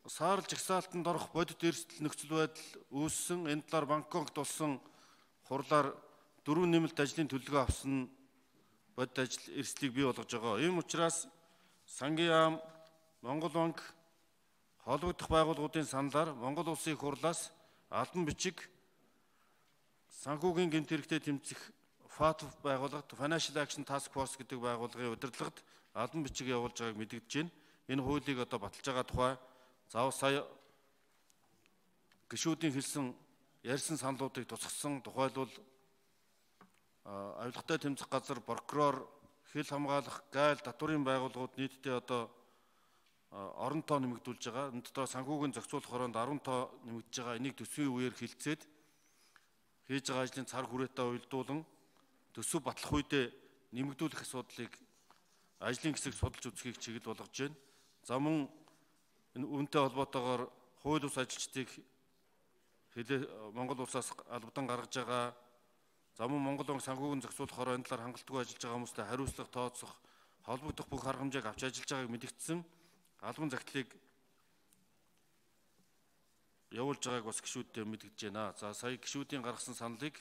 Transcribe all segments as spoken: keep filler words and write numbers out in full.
саарл жагсаалтанд орох бодит эрсдэл нөхцөл байдал үүссэн. Энэ талаар Бангкокт болсон хурлаар дөрвөн нэмэлт ажлын төлөвлөгөө авсан бодит ажил эрсдлийг бий болгож байгаа. Ийм учраас сангийн яам, Монгол банк, холбогдох байгууллагуудын саналаар Монгол улсын их хурлаас албан бичиг санхүүгийн гэмт хэрэгтэд тэмцэх ФАТФ байгууллагад Financial Action Task Force гэдэг байгууллагын удирдлагад албан бичиг явуулж байгааг мэдэгдэж байна. Энэ хуулийг одоо баталж байгаа тухай заавал сая гишүүдийн хэлсэн ярьсан саналуудыг тусгасан. Тухайлбал авилгатай тэмцэх газар, прокурор, хил хамгаалах, гайл, татврын байгууллагууд нийтдээ одоо орон тоо нэмэгдүүлж байгаа. Энэ дотор санхүүгийн зохицуулах хороонд арван тоо нэмэгдэж байгаа. Энийг төсвийн үеэр хилцээд хийж байгаа ажлын цар хүрээтэй уялдуулан төсөв батлах үедээ нэмэгдүүлэх асуудлыг ажлын хэсэг судалж үзхийг чиглэл болгож байна. За мөн энэ үүнтэй холбоотойгоор хууль бус ажилчдыг Монгол улсаас албадан гаргаж байгаа. За мөн Монгол банк санхүүгийн зохицуулах хороо энэ талаар хангалтгүй ажиллаж байгаа хүмүүстээ хариуцлага тооцох, холбогдох бүх арга хэмжээг авч ажиллаж байгааг мэдэгдсэн. Албан захидлыг явуулж байгааг бас гишүүдтэй мэдэгдэж байна. За сая гишүүдийн гаргасан саналыг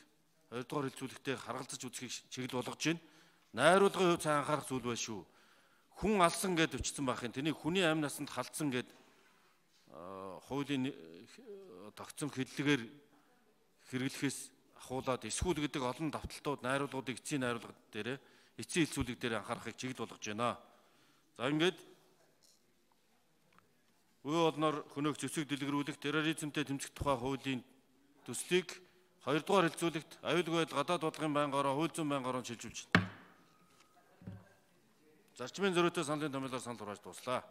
хоёрдугаар хэлцүүлэгтээ харгалзаж үзхийг чиглэл болгож байна. Найруулгын хувьд сайн анхаарах зүйл байна шүү. Хүн алсан гэд өвчтсөн байх юм. Тэнийг хүний амь насанд халдсан гэд хуулийн тогтсон хэллэгээр хэрэглэхээс ахуулаад эсхүүл гэдэг олон давталтууд, найруулгуудыг эцсийн найруулга дээр, эцсийн хэлцүүлэг дээр анхаарахыг чиглэл болгож байна. За ингээд үе олноор хөнөөх зэвсэг дэлгэрүүлэх, терроризмтэй тэмцэх тухай хуулийн төслийг хоёрдугаар хэлцүүлэгт аюулгүй байдал, гадаад бодлогын байнгаараа, хууль зүйн байнгаараа шилжүүлж байна. Зарчмын зөрүүтэй саналын томьёолоор санал хурааж дуслаа.